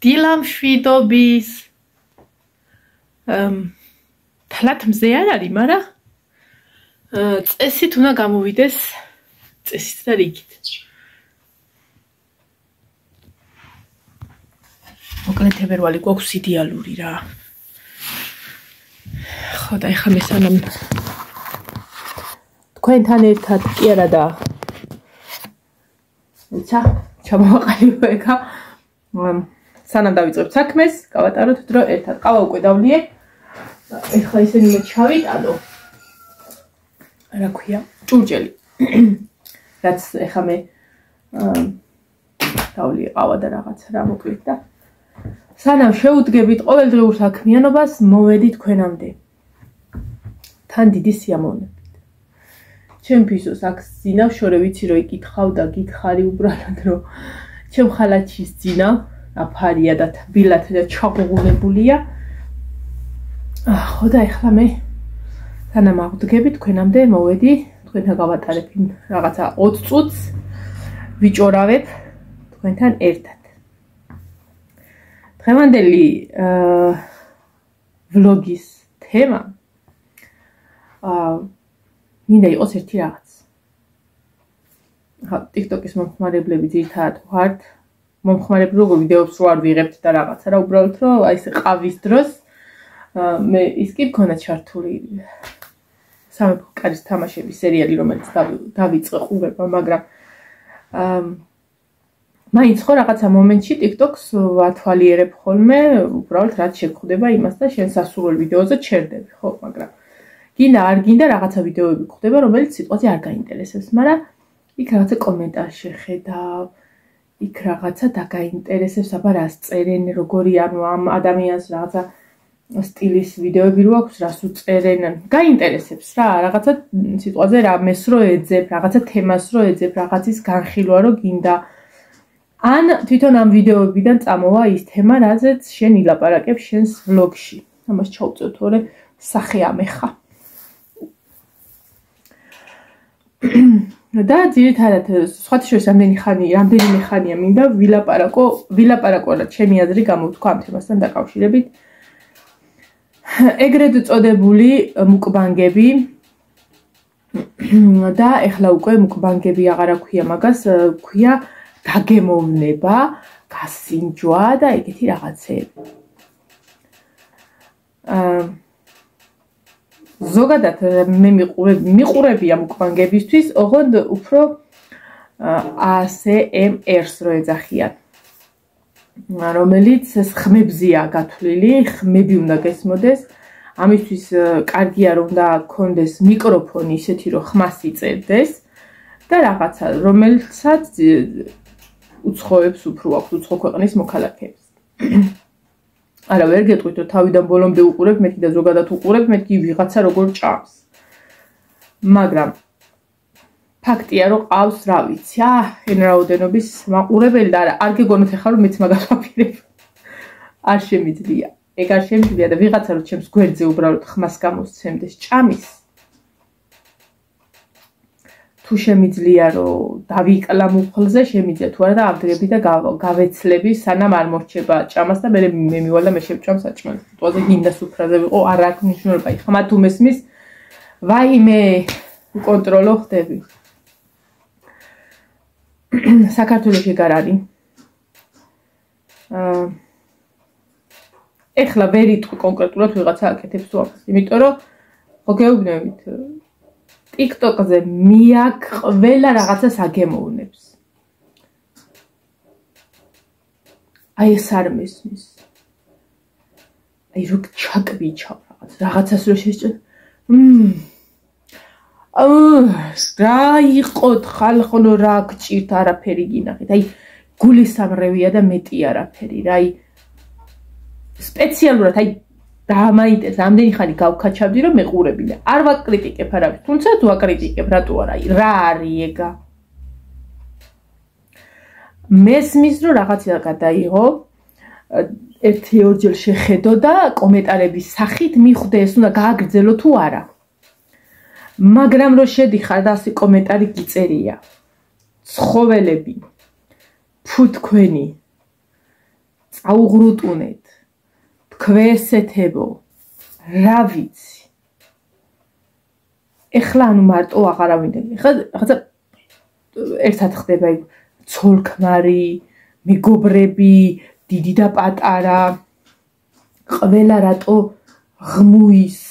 დილამშვიდობის თლათ მზე არ არის, მაგრამ წესით უნდა გამოვიდეს წესით და რიგით. მოკლედ თებერვალი გვაქვს იდეალური რა. ხო და ეხლა მე სანამ თქვენთან ერთად კი არა და ჩამოვაყალიბო ეხა სანამ დავიწყებ საქმეს, გავატაროთ დრო ერთად. ყავა უკვე დავლიე. ეხლა ისინი ჩავიტანო. რა ქვია? ჭურჭელი. რაც ეხლა მე დავლიე ყავა და რაღაცა რა მოკლედ და სანამ შეუდგებით ყოველდღიურ საქმიანობას, მოვედი თქვენამდე. თან დიდი სიამოვნებით. ჩემ ფისოს აქ ძინავ, შორე ვიცი რომ იკითხავ და გითხარი უბრალოდ რომ ჩემ ხალათში ძინავ, აფარია და თბილად და ჩაღუღუნებულია. ხო და ეხლა მე სანამ აღვდგები თქვენამდე მოვედი, თქვენთან გავატარებ რაღაცა 20 წუთს ვიჭორავებ თქვენთან ერთად. დღევანდელი ვლოგის თემა მინდა იყოს ერთი რაღაც. ხა TikTok-ის მომხმარებლები ძირითადად ვართ. მომხმარებლები როგორ ვიდეოებს რო არ ვიღებთ და რაღაცა რა უბრალოდ რომ აი ეს ყავის დროს მე ის კი მქონდა ჩართული სამეფო კარის თამაშების სერიალი, რომელიც დავიწყე ყურება, მაგრამ მაინც ხო რაღაცა მომენტში TikTok-ს ვათვალიერებ ხოლმე, უბრალოდ რაც შეგხვდება იმას და შენ სასურველ ვიდეოზე ჩერდები, ხო, მაგრამ გინდა არ გინდა რაღაცა ვიდეოები გვხვდება, რომელიც სიტყვაზე არ გაინტერესებს, მაგრამ იქ რაღაცა კომენტარი შეხედავ, იქ რაღაცა დაგაინტერესებს, აბა რას წერენ, როგორი ანუ ამ ადამიანს რაღაცა სტილის ვიდეოები რო აქვს, რას უწერენ, გაინტერესებს რა, რაღაცა სიტყვაზე რამეს რო ეძებ, რაღაცა თემას რო ეძებ, რაღაცის განხილვა რო გინდა. ან თვითონ ამ ვიდეოებიდან წამოვა ის თემა, რაზეც შენ ილაპარაკებ შენს ვლოგში. ამას ჩავწევ, თორე სახე ამეხა. და ძირითადად სხვათა შორის რამდენიმე ხანია მინდა ვილაპარაკო რა ჩემი აზრი გამოვთქვა ამ თემასთან დაკავშირებით. ეგრეთ წოდებული მუკბანგები და ეხლა უკვე მუკბანგები აღარ აქვია მაგას, ქვია დაგემოვნება, გასინჯვა და ეგეთი რაღაცეები. ზოგადად მე მიყურებია მუკბანგებისთვის, ოღონდ უფრო ASMR-ს რო ეძახიან. რომელიც ხმებზია გათვლილი, ხმები უნდა გესმოდეს. ამისთვის კარგია რომ უნდა გქონდეს მიკროფონი ისეთი რომ ხმას იწერდეს და რაღაცა რომელსაც უცხოებს უფრო აქვს, უცხო ქვეყნის მოქალაქეებს. არა ვერ გეტყვით რომ თავიდან ბოლომდე უყურებ, მეთქი და ზოგადად უყურებ, მეთქი ვიღაცა როგორ ჭამს. მაგრამ ფაქტია რომ ყავს რა ვიცი, ენრაოდენობის მაყურებელი და არ გეგონოთ ახლა რომ მეც მაგას ვაპირებ. არ შემიძლია. ეგ არ შემიძლია და ვიღაცა რომ ჩემს გვერდზე უბრალოდ ხმას გამოსცემდეს ჭამის. თუ შემიძლია რომ დავიკლა მუხლზე, შემიძლია თუ არა და ავდრები და გავეცლები სანამ არ მორჩება ჭამას და მე მივალ და მე შევჭამ საჭმელს. თვითონზე გინდა სუფრაზე ვიყო, არ აქვს მნიშვნელობა. ხმა თუ მესმის, ვაიმე უკონტროლო ხდები. საქართველოში ეგ არ არის. ეხლა ვერ იტყვი კონკრეტულად ვიღაცა აკეთებს თუ ამას, იმიტომ რომ ხო გეუბნებით TikTok-ზე მიაკ ყველა რაღაცას აგემოვნებს. აი ეს არ მესმის. აი რო ჩაკვიჩავ რაღაცას რო შეჭერ. რა იყოთ ხალხო რა გჭირთ არაფერი გინახეთ. აი გულის სამრევია და მეტი არაფერი რა. აი სპეციალურად აი დამაინტერესა ამდენი ხანი გავქაჩავდი რომ მეყურები და არ ვაკრიტიკებ არავის, თუმცა თუ აკრიტიკებ რატო არა, რა არის ეგა? მესმის რომ რაღაცა გადაიღო, ერთი-ორჯერ შეხედო და კომენტარების სახით მიხვდე ეს უნდა გააგრძელო თუ არა. მაგრამ რო შედიხარ და ასე კომენტარი გიწერია. ცხოველები, ფუთქვენი, წაუღრუტუნეთ, თქვესეთებო, რა ვიცი. ეხლა ანუ მარტო აღარავინდები. ეხლა რაღაცა ერთად ხდება იქ ცოლ-ქმარი, მეგობრები, დიდი და პატარა, ყველა რატო ღმუის.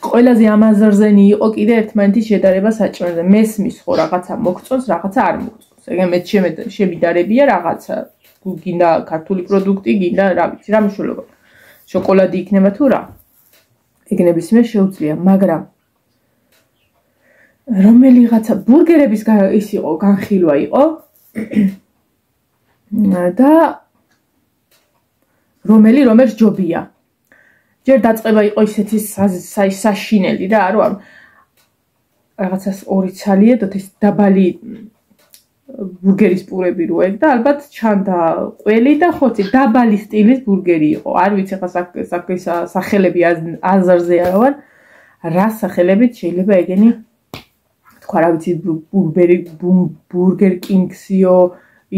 ყველაზე ამაზრზენი იყო კიდე ერთმანეთის შედარება საჭმელზე. მესმის ხო რაღაცა მოგწონს, რაღაცა არ მოგწონს. ეგ მე შემიდარებია რაღაცა. გინდა ქართული პროდუქტი, გინდა რა ვიცი, რა მნიშვნელობა. შოკოლადი იქნება თუ რა. ეგ ნებისმიერ შეუძლია, მაგრამ რომელიღაცა ბურგერების ის იყო, განხილვა იყო და რომელს ჯობია. ჯერ დაწყება იყო ისეთი საშინელი და არო რაღაცას 2 ცალიედოთ ეს დაბალი ბურგერის პურები რო ეგ და ალბათ ჩანდა ყველი და ხოცი დაბალი სტილის ბურგერი იყო. არ ვიცი ხა სახელები აზარზე არა ვარ. რა სახელებით შეიძლება ეგენი თქვა რა ვიცი ბურგერ კინგსიო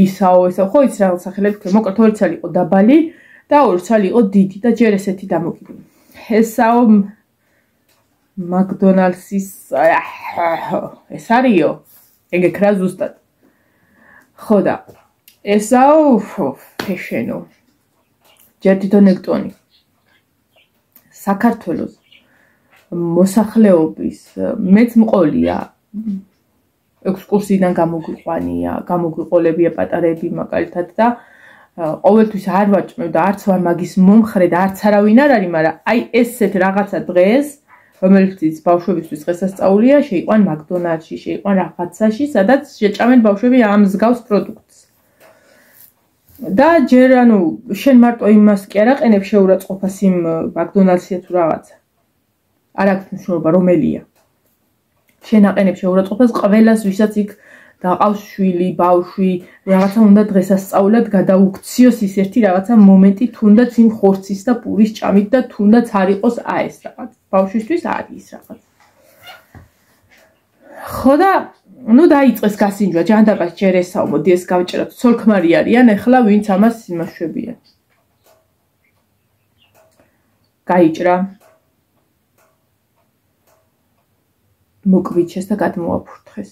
ისაო ესა ხო იცი რაღაც სახელები თქვა. მოკლედ 2 ცალი იყო დაბალი და 2 ცალი იყო დიდი და ჯერ ესეთი დამოკიდებული. ესაო მაკდონალდსის ეს არისო ეგ ეკრა ზუსტად. ხო და ესაო ფეშენო ჯერ თვითონ ექტონი საქართველოს მოსახლეობის მეც მყოლია ექსკურსიიდან გამოგვიყოლებია პატარები მაგალითად და ყოველთვის არ ვაჭმევ და არც ვარ მაგის მომხრე და არც არავინ არ არის, მაგრამ აი ესეთ რაღაცა დღეს რომელიც ბავშვებისთვის დღესასწაულია, შეიყვან მაკდონალდსში, შეიყვან რაღაცაში, სადაც შეჭამენ ბავშვები ამ მსგავს პროდუქტს. და ჯერ ანუ შენ მარტო იმას კი არ აყენებ შეურაცხყოფას იმ მაკდონალდსია თუ რაღაცა. არ აქვს მნიშვნელობა რომელია. შენ აყენებ შეურაცხყოფას ყველას, ვისაც იქ დაყავს შვილი, ბავშვი, რაღაცა უნდა დღესასწაულად გადაუქციოს ის ერთი რაღაცა მომენტი, თუნდაც იმ ხორცის და პურის ჭამით და თუნდაც არ იყოს ეს რაღაც. ბავშვისთვის არის რაღაც. ხო და ნუ დაიწყეს გასინჯვა, ჯანდაბას ჯერ ესაო, მოდი ეს გავჭეროთ. ცოლ-ქმარი არიან, ეხლა ვინც ამას იმაშვებიან. გაიჭრა. მოკვიჩეს და გადმოაფურთხეს.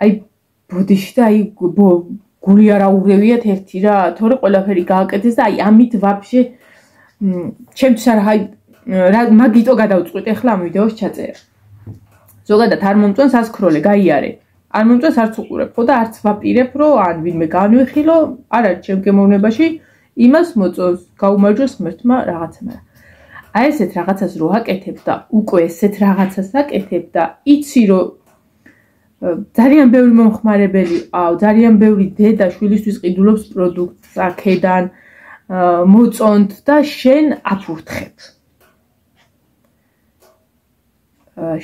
აი ბოდიში და აი გული არ აურევიათ ერთი რა, თორე ყველაფერი გააკეთეს და აი ამით ვაფშე ჩემთვის არა მაგიტო გადავწყვიტე ახლა ამ ვიდეოს ჩაწერა. ზოგადად არ მომწონს ასკროლე, გაიარე. არ მომწონს არც უყურებ, ხო და არც ვაპირებ, რომ ან ვინმე განვიხილო, არ არის ჩემ გემოვნებაში იმას მოწონს, გაუმარჯოს ღმერთმა რაღაცა, მაგრამ აი ესეთ რაღაცას რო აკეთებ და უკვე ესეთ რაღაცას აკეთებ და იცი რომ ძალიან ბევრი მომხმარებელი ყავ, ძალიან ბევრი დედა შვილისთვის ყიდულობს პროდუქტს აქედან მოწონთ და შენ აფურთხებ.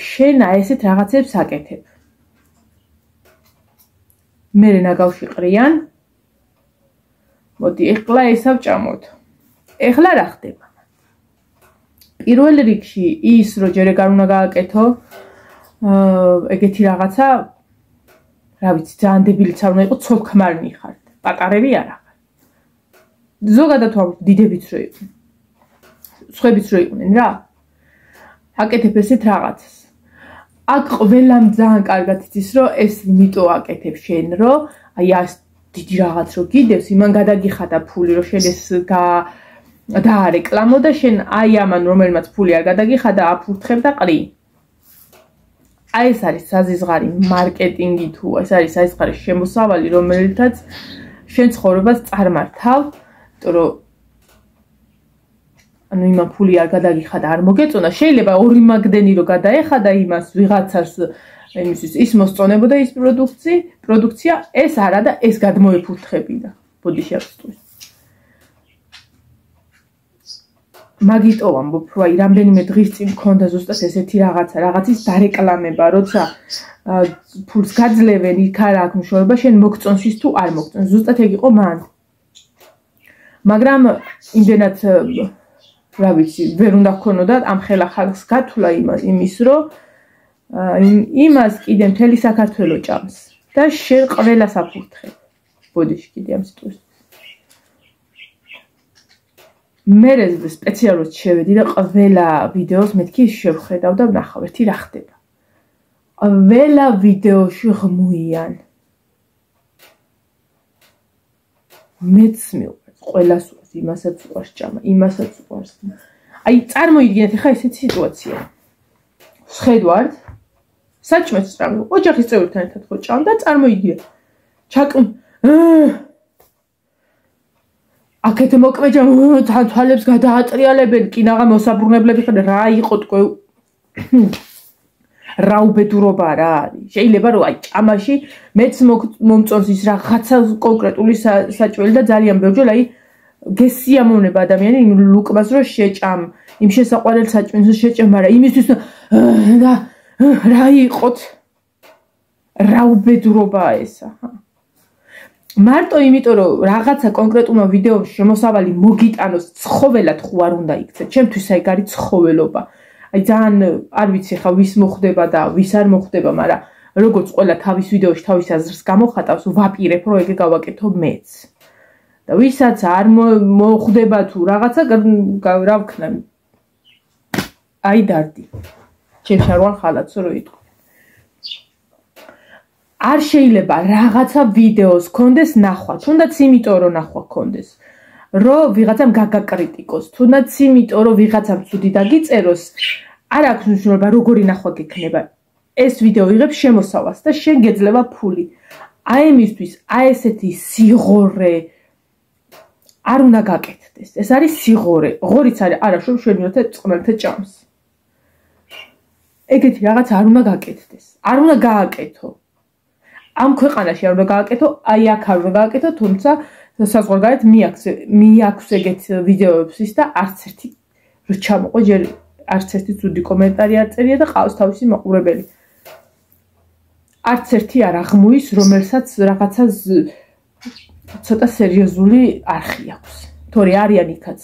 შენ აი ესეთ რაღაცებს აკეთებ. მერე ნაგავში ყრიან. მოდი ეხლა ესავჭამოთ. ეხლა რა ხდება? პირველ რიგში ის რომ ჯერ ეგ არ უნდა გააკეთო ეგეთი რაღაცა რა ვიცი ძალიან დებილიც არ უნდა იყოს ცოლ-ქმარნი ხართ პატარები არა ხარ ზოგადად ვამბობ დიდებიც რო იყვნენ სხვებიც რო იყვნენ რა აკეთებ ესეთ რაღაცას აქ ყველამ ძალიან კარგად იცის რომ ეს იმიტომ აკეთებ შენ რომ აი ეს დიდი რაღაც რო გიდევს იმან გადაგიხადა ფული რომ შენ ეს დაარეკლამო და შენ აი ამან რომელმაც ფული არ გადაგიხადა აფურთხებ და ყრი აი ეს არის საზიზღარი მარკეტინგი თუ ეს არის საზიზღარი შემოსავალი რომელთაც შენ ცხოვრებას წარმართავ იმიტომ რომ ანუ იმან ფული არ გადაგიხადა არ მოგეწონა შეიძლება ორი მაგდენი რო გადაეხადა იმას ვიღაცას იმისთვის ის მოსწონებოდა ის პროდუქცია ეს არა და ეს გადმოეფურთხებინა ბოდიში აღსტურის მაგიტო ვამბობ, რომ აი რამდენიმე დღის წინ მქონდა ზუსტად ესეთი რაღაცის დარეკლამება, როცა ფულს გაძლევენ, იქ არ აქვს მნიშვნელობა, შენ მოგწონს ის თუ არ მოგწონს, ზუსტად ეგ იყო მან. მაგრამ იმდენად რა ვიცი, ვერ უნდა გქონოდა ამ ხელა ხალხს გათვლა იმის, რომ იმას კიდე მთელი საქართველო ჭამს. და შენ ყველას აფურთხებ. ბოდიში კიდე ამ სიტყვას. მე სპეციალურად შევედი და ყველა ვიდეოს მეთქი შევხედავ და ვნახავ ერთი რა ხდება. ყველა ვიდეოში ღმუიან. მეც მიყვარს, ყველას უყვარს, იმასაც უყვარს ჭამა, იმასაც უყვარს. აი წარმოიდგინეთ ახლა ესეთი სიტუაცია. შედვართ საჭმელს წრავი, ოჯახის წევრებთან ერთად ხო ჭამ და წარმოიდგინეთ. ჩაკმ აქეთ მოკვეჭა თან თვალებს გადაატრიალებენ, კინაღა მოსაბრუნებლები ხარ რა იყო თქო რა უბედურობა რა არის. შეიძლება რომ აი ჭამაში მეც მომწონს ის რაღაცა კონკრეტული საჭმელი და ძალიან ბევრჯერ აი გესიამოვნება ადამიანი იმ ლუკმას რომ შეჭამ, იმ შესაყვარელ საჭმელს შეჭამ, მაგრამ იმისთვის რა იყოთ რა უბედურობაა ესა. მარტო იმიტომ რომ რაღაცა კონკრეტულმა ვიდეოში შემოსავალი მოგიტანოს ცხოველად ხო არ უნდა იქცეთ. ჩემთვის აი გარი ცხოველობა. აი ძალიან არ ვიცი ხა ვის მოხდება და ვის არ მოხდება, მაგრამ როგორც ყველა თავის ვიდეოში თავის აზრს გამოხატავს, ვაპირებ რომ ეგე გავაკეთო მეც. და ვისაც არ მოხდება თუ რაღაცა რა ვქნა. აი დარდი. ჩემს არვალ ხალათს რო იტყვი. არ შეიძლება რაღაცა ვიდეოს კონდეს ნახვა, თუნდაც იმიტომ რომ ნახვა კონდეს. რომ ვიღაცამ გაგაკრიტიკოს, თუნდაც იმიტომ რომ ვიღაცამ ცუდი დაგიწეროს, არ აქვს მნიშვნელობა როგორი ნახვა გექნება. ეს ვიდეო იღებს შემოსავალს და შენ გეძლევა ფული. აი მისთვის აი ესეთი სიღორე არ უნდა გაკეთდეს. ეს არის სიღორე. ღორიც არის არაშობ შვენიოთე წყნელთე ჭამს. ეგეთი რაღაც არ უნდა გაკეთდეს. არ უნდა გააკეთო. ამ ქვეყანაში არ უნდა გააკეთო, აი აქ არ უნდა გააკეთო, თუმცა საზღვარგარეთ მიაქვს ეგეთ ვიდეოებსის და არც ერთი რო ჩამოყო ჯერ არც ერთი ცუდი კომენტარი არ წერია და ყავს თავისი მაყურებელი. არც ერთი არ აღმოის, რომელსაც რაღაცა ცოტა სერიოზული არხი აქვს. თორე არიან იქაც.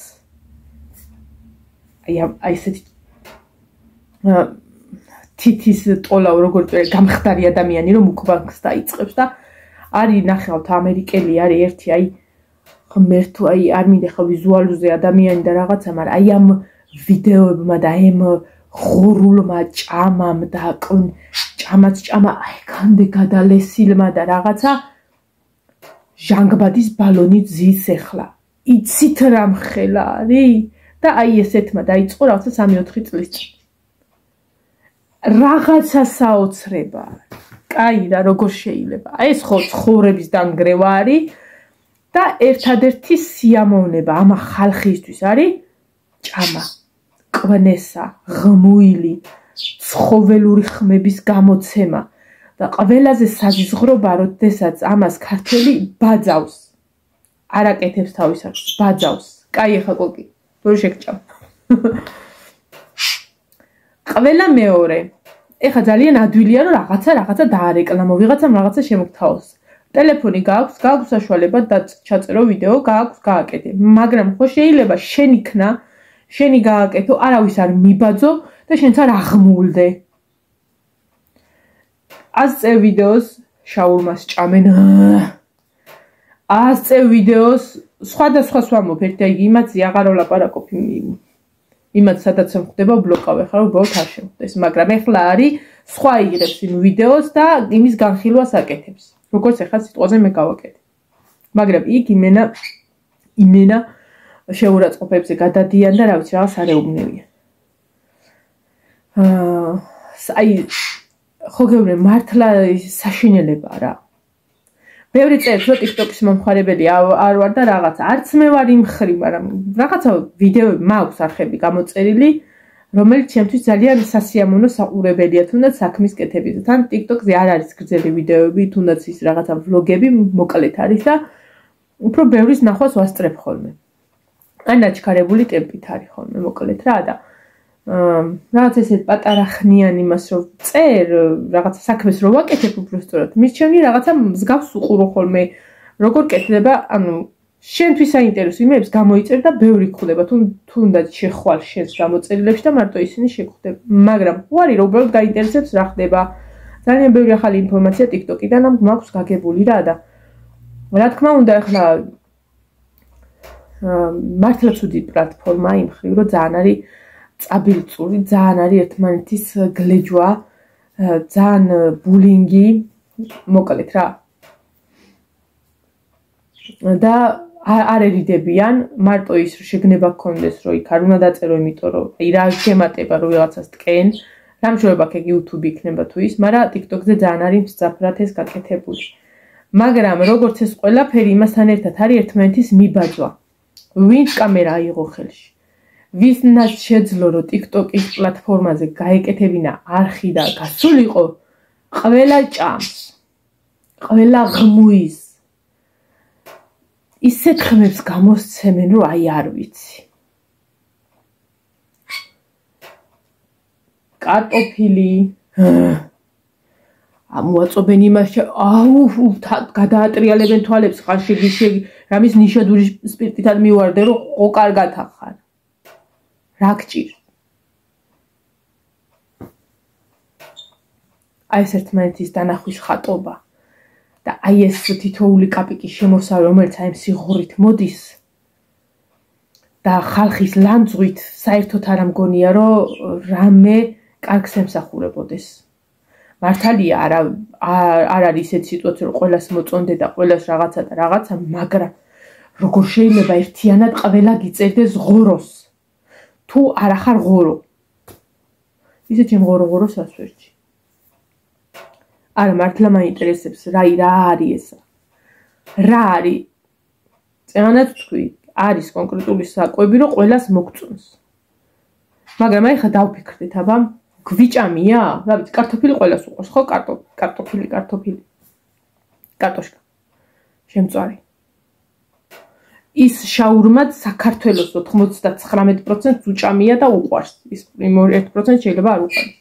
აი ესეთი თითის ტოლაო როგორც გამხდარი ადამიანი რომ მუქბანგს დაიწყებს და არის ნახავთ ამერიკელი არის ერთი აი ღმერთო აი არ მინდა ხა ვიზუალურზე ადამიანი და რაღაცა მაგრამ აი ამ ვიდეოებმა და ამ ღორულმა ჭამამ და ჭამაც ჭამა აი გამდე გადალესილმა და რაღაცა ჟანგბადის ბალონი ძის ახლა იცით რა მხელა არის და აი ესეთმა დაიწყო რაღაცა 3-4 წლის წინ რაღაცა საოცრება. კაი რა როგორ შეიძლება. აი ეს ხო ცხოვრების დანგრევა არის და ერთადერთი სიამოვნება ამ ხალხისთვის არის ჭამა, კვნესა, ღმუილი, ცხოველური ხმების გამოცემა და ყველაზე საზღვრობა როდესაც ამას ქართველი ბაძავს. არ აკეთებს თავის არხს, ბაძავს. კაი ახლა კოკი, რო შეგჭამ. ყველა მეორე ეხა ძალიან ადვილია რომ რაღაცა დაარეკლამო, ვიღაცამ რაღაცა შემოგთავაზოს. ტელეფონი გააქვს საშუალება და ჩაწერო ვიდეო, გააქვს გააკეთე. მაგრამ ხო შეიძლება შენ იქნა, შენი გააკეთო, არავის არ მიბაძო და შენც არ აღმულდე. ასწე ვიდეოს შაურმას ჭამენ. ასწე ვიდეოს სხვადასხვა ვამბობ, ერთი იგი იმათზე აღარ ვლაპარაკობ იმათ სადაც ხდება ბლოკავე ხარ უბრალოდ არ შემხდეს მაგრამ ეხლა არის სხვა იღებს იმ ვიდეოს და იმის განხილვას აკეთებს როგორც ეხლა სიტყვაზე მე გავაკეთე მაგრამ იქ იმენა შეურაცხყოფებზე გადადიან და რა ვიცი რაღაც არ ეუბნებიან აი ხო გეუბნე მართლა საშინელებაა რა ბევრი წერს რომ TikTok-ის მომხმარებელი არ ვარ და რაღაცა არც მე ვარ იმ ხრი მაგრამ რაღაცა ვიდეოები მაქვს არხები გამოწერილი რომელიც ჩემთვის ძალიან სასიამოვნო საყურებელია თუნდაც საქმის კეთებაზე თან TikTok-ზე არ არის გრძელი ვიდეოები თუნდაც ის რაღაცა ვლოგები მოკლედ არის და უფრო ბევრის ნახვას ვასწრებ ხოლმე ან ნაჩქარებული ტემპით არის ხოლმე მოკლედ რა და რაღაც ესეთ პატარა ხნიან იმას რომ წერ რაღაცა საქმეს რო ვაკეთებ უბრალოდ მისჩემნი რაღაცა მსგავს უყურო ხოლმე როგორ კეთდება ანუ შენთვის საინტერესო იმებს გამოიწერ და ბევრი გხვდება თუნდაც შეხვალ შენს გამოწერილებში და მარტო ისინი შეგხვდება მაგრამ უარი რომ უბრალოდ გაინტერესებს რა ხდება ძალიან ბევრი ახალი ინფორმაცია TikTok-იდან მაქვს გაგებული რა და რა თქმა უნდა ახლა მართლა ცუდი პლატფორმა იმ ხრივ რომ ძალიან არის წაბილწური, ძალიან არის ერთმანეთის გლეჯვა, ძალიან ბულინგი, მოკლედ რა. და არ ერიდებიან, მარტო ის შეგნება გქონდეს, რომ იქ არ უნდა დაწერო, იმიტომ რომ აი რა შემატება რომ ვიღაცას ტკენ, რამშორება აქ YouTube იქნება თუ ის, მაგრამ TikTok-ზე ძალიან არის მსწაფრად ეს გაკეთებული. მაგრამ როგორც ეს ყველაფერი იმასთან ერთად არის ერთმანეთის მიბაძვა. ვინც კამერა აიღო ხელში. ვისნაც შეძლო რომ TikTok-ის პლატფორმაზე გაეკეთებინა არხი და გასულიყო, ყველა ჭამს. ყველა ღმუის. ისეთ ხმებს გამოსცემენ, რომ აი არ ვიცი. კარტოფილი ამოაწობენ იმას, აუ, გადაატრიალებენ თვალებს, ხარ რამის ნიშადური სპირტითად მივარდე, რომ ყო კარგად ახარ. რა გჭირ? აი ეს ერთმანეთის დანახვის ხატობა. და აი ეს თითოეული კაპიკის შემოსავალი, რომელიც აი სიღრით მოდის და ხალხის ლანძღვით საერთოდ არ ამგონია, რომ რამე კარგს ემსახურებოდეს. მართალია არ არის ისეთი სიტუაცია, რომ ყველას მოწონდე და ყველას რაღაცა და რაღაცა, მაგრამ როგორ შეიძლება ერთიანად ყველა გიწერდეს ღოროს? თუ არ ახარ ღორო. ისე ჩემ ღორო-ღოროს ასვერჩი. არა მართლა მაინტერესებს რა არის ესა. რა არის? წეგანაც თქვი, არის კონკრეტული საკვები, რომ ყველას მოგწონს. მაგრამ აი ხა დავფიქრდეთ, აბა, გვიჭამია? რა ვიცი, კარტოფილი ყველას უყვარს, ხო? კარტოფილი. კარტოშკა. შემწვარი. ის შაურმაც საქართველოს 99% უჭამია და უყვარს. ის 1% შეიძლება არ უყვარს.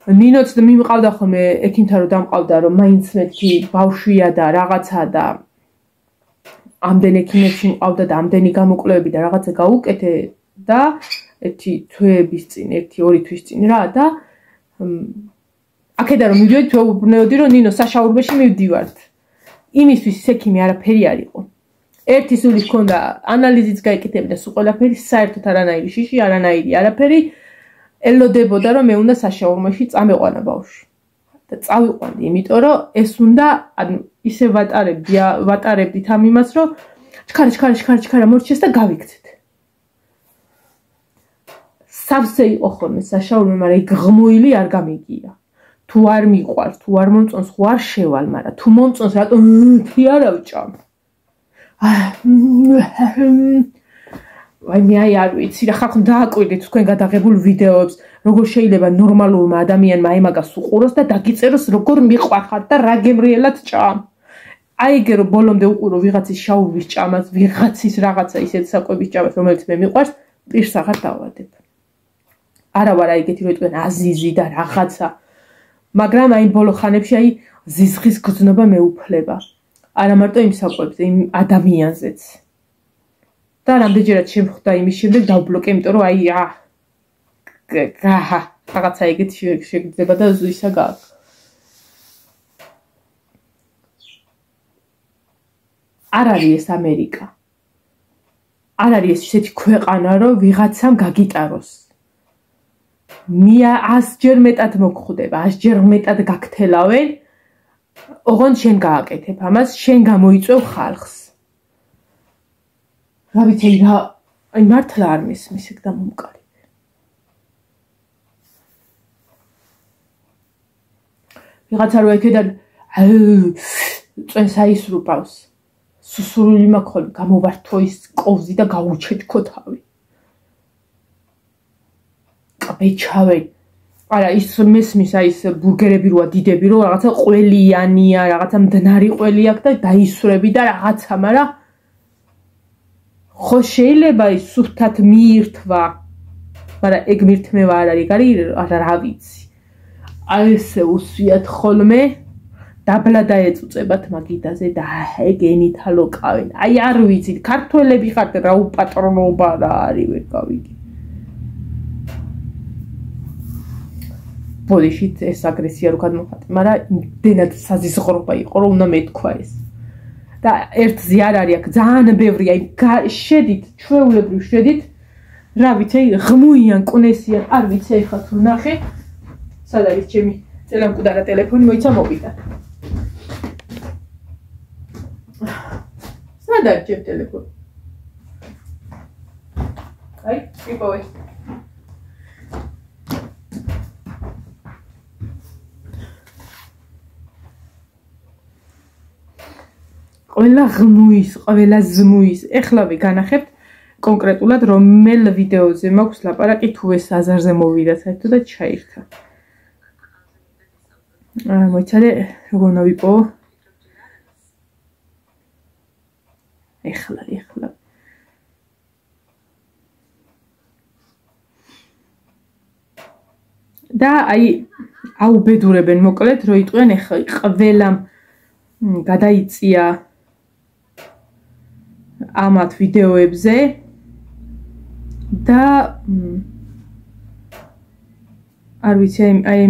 ნინოც მიმყავდა ხოლმე ექიმთან რომ დამყავდა რომ მაინც მეთქი ბავშვია და რაღაცა და ამდენ ექიმებში მყავდა და ამდენი გამოკვლევები და რაღაცა გაუკეთე და ერთი თვეების წინ, 1-2 თვის წინ რა და აქედან რომ მივიდოდი თვეუბნეოდი რომ ნინო საშაურმეში მივდივართ. იმისთვის ის ექიმი არაფერი არ იყო. ერთი სული ჰქონდა ანალიზიც გაიკეთებდა სულ ყველაფერი საერთოდ არანაირი შიში, არანაირი არაფერი ელოდებოდა რომ მე უნდა საშაურმეში წამეყვანა ბავშვი. და წავიყვანდი, იმიტომ რომ ეს უნდა ანუ ისე ვატარებდით ამ იმას რომ ჩქარა მორჩეს და გავიქცეთ. სავსე იყო ხოლმე საშაურმე, მაგრამ ეგ ღმუილი არ გამიგია. თუ არ მიყვარს, თუ არ მომწონს, ხო არ შევალ, მაგრამ თუ მომწონს, რატომ თი არა ვჭამ? აი მე არ ვიცი რა ხალხო დააკვირდით თქვენ გადაღებულ ვიდეოებს როგორ შეიძლება ნორმალურმა ადამიანმა აი მაგას უყუროს და დაგიწეროს როგორ მიყვარხარ და რა გემრიელად ჭამ აი ეგ რომ ბოლომდე უყურო ვიღაცის შაურმის ჭამას ვიღაცის რაღაცა ისეთ საკვების ჭამას რომელიც მე მიყვარს პირს აღარ დავადებ არა ვარ ეგეთი რომ თქვენ აზიზი და რაღაცა მაგრამ აი ბოლო ხანებში აი ზიზღის გრძნობა მეუფლება არა მარტო იმ საკვებზე იმ ადამიანზეც და რამდენჯერაც შემხვდა იმის შემდეგ დავბლოკე, იმიტომ რომ აი რაღაცა ეგეთი შეგრძნება და ისა გააქვს. არ არის ეს ამერიკა. არ არის ეს ისეთი ქვეყანა, რომ ვიღაცამ გაგიტაროს. 100-ჯერ მეტად მოგხვდება, 100-ჯერ მეტად გაგთელავენ, ოღონდ შენ გააკეთებ ამას, შენ გამოიწვევ ხალხს. რა ვიცი რა აი მართლა არ მისმის ეგ დამომკარები ვიღაცა რო ეკედან წვენს აისრუპავს სუსურული მაქვს გამოვართო ის კოვზი და გაუჩეთქო თავი ყბეჩავე არა ის მესმის აი ეს ბურგერები როა დიდები რო რაღაცა ყველიანია რაღაცა მდნარი ყველი აქვს და დაისვრები და რაღაცა მაგრამ ხო შეიძლება ის სუფთად მიირთვა, მაგრამ ეგ მირთმევა არ არის, რა ვიცი. აი ესე უსვიათ ხოლმე, დაბლა დაეწუწებათ მაგიდაზე და ეგენით ალოკავენ. აი არ ვიცით, ქართველები ხართ რა უპატრონობა რა არის ვერ გავიგე. ბოდიშით ეს აგრესია რო გადმოხატე, მაგრამ იმდენად საზიზღრობა იყო, რომ უნდა მეთქვა ეს. და ერთზე არ არის აქ ძალიან ბევრია, შედით, ჩვეულებრივ შედით, რა ვიცი, ღმუიან, კუნესიან, არ ვიცი ეხლა თუ ნახე. სად არის ჩემი წელამკვდარა ტელეფონი, მოიცა მოვიდა. სად არის ჩემი ტელეფონი? აი, იპოვე. ყველა ღმუის, ყველა ზმუის. ეხლავე განახებთ კონკრეტულად რომელ ვიდეოზე მაქვს ლაპარაკი, თუ ეს აზარზე მოვიდა საერთოდ და ჩაირთა. მოიცადე, როგორ უნდა ვიპოვო? ეხლა. და აი აუბედურებენ მოკლედ, რომ იტყვიან ეხლა ყველამ გადაიწია ამათ ვიდეოებზე და არ ვიცი აი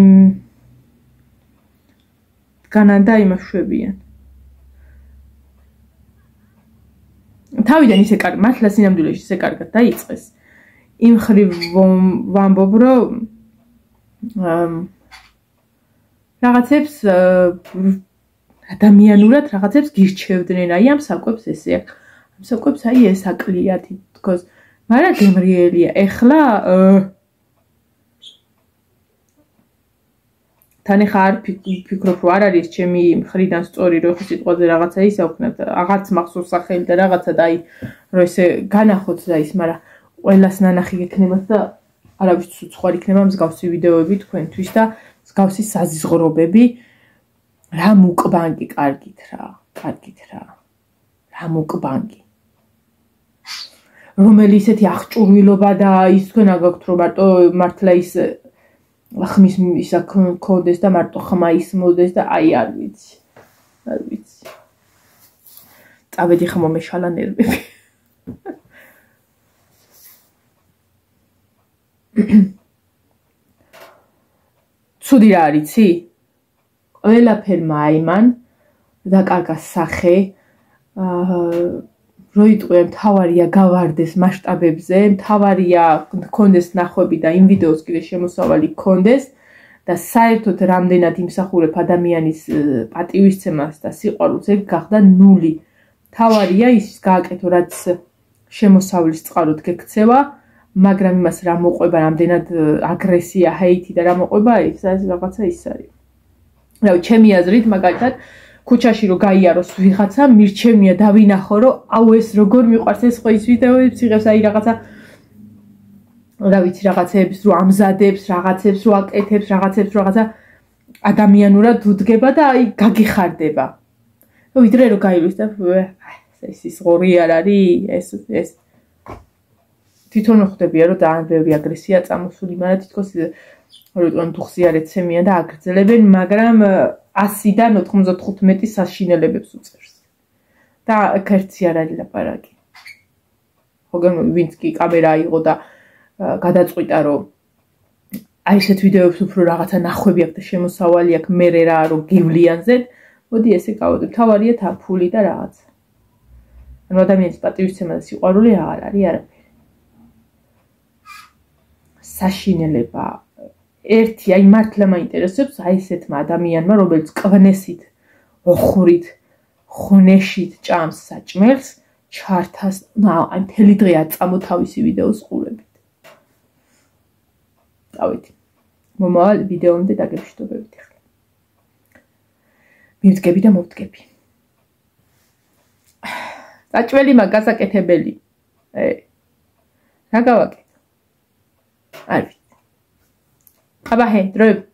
განანდა იმაშვებიან. თავიდან ისე კარგი, მართლა სინამდვილეში ისე კარგად დაიწყეს. იმ ხრივ ვამბობ, რომ რაღაცებს ადამიანურად რაღაცებს გირჩევდნენ, აი ამ საკვებს ესე აქ. ამ საკვებს აი ეს აკლიათ თქოს, მაგრამ გემრიელია. ეხლა თან ახლა არ ფიქრობ, რომ არ არის ჩემი მხრიდან სწორი, რომ ხო სიტყვაზე რაღაცა ისაუქნათ, აღარც მახსოვს სახელი და რაღაცა და აი რომ ესე განახოთ და ის, მაგრამ ყველას ნანახი გექნებათ და არავის სხვა იქნება მსგავსი ვიდეოები თქვენთვის და მსგავსი საზიზღრობები. რა მუკბანგი კარგით რა. რა მუკბანგი. რომელი ისეთი აღჭურვილობა და ის თქვენ აგაქვთ, რომ მართლა ის ხმის ისა კონდეს და მარტო ხმა ისმოდეს და აი არ ვიცი. წავედი ხმო მეშალა ნერვები. ცუდი რა არიცი? ყველაფერმა აიმან დაკარგა სახე, რო იტყვიან მთავარია გავარდეს მასშტაბებზე, მთავარია გქონდეს ნახვები და იმ ვიდეოს კიდე შემოსავალი გქონდეს და საერთოდ რამდენად იმსახურებ ადამიანის პატივისცემას და სიყვარულს, ეგ გახდა ნული. მთავარია ის გააკეთო, რაც შემოსავლის წყაროდ გექცევა, მაგრამ იმას რა მოყვება, რამდენად აგრესია, ჰეითი და რა მოყვება, ეს რაღაცა ის არის. რავი, ჩემი აზრით, მაგალითად, ქუჩაში რო გაიაროს ვიღაცა, მირჩემია დავინახო, რომ აუ ეს როგორ მიყვარს ეს ხო ის ვიდეოებს იღებს, აი რაღაცა რა ვიცი, რაღაცეებს რო ამზადებს, რაღაცებს რო აკეთებს, რაღაცებს რაღაცა ადამიანურად უდგება და აი გაგიხარდება. ვიდრე რო გაილვის და ეს ღორი არ არის, ეს თვითონ ხვდებია, რომ ძალიან ბევრი აგრესია წამოსული, მაგრამ თითქოს რომ დუხზე არ ეცემიან და აგრძელებენ, მაგრამ 100-დან 95 საშინელებებს უწევს. და კერცი არ არის ლაპარაკი. ხოგან ვინც კი კამერა აიღო და გადაწყვიტა, რომ აი ესეთ ვიდეოებს უფრო რაღაცა ნახვები აქვს და შემოსავალი აქვს, მე რა რომ გივლიანზეთ, მოდი ესე გავოდე. მთავარია თაფული და რაღაცა. ანუ ადამიანის პატივისცემა და სიყვარული აღარ არის არაფერი. საშინელება ერთი აი მართლა მაინტერესებს აი ესეთმა ადამიანმა, რომელიც კვნესით, ოხრით, ხუნეშით ჭამს საჭმელს, ჩართას, აი მთელი დღე აწამო თავისი ვიდეოს ყურებით. დავით. მომავალ ვიდეომდე დაგებშტობებით ახლა. მივდგები და მოვდგები. საჭმელი მაგასაკეთებელი. რა გავაკეთო? არ ვიცი. აბა ჰე, დროებით.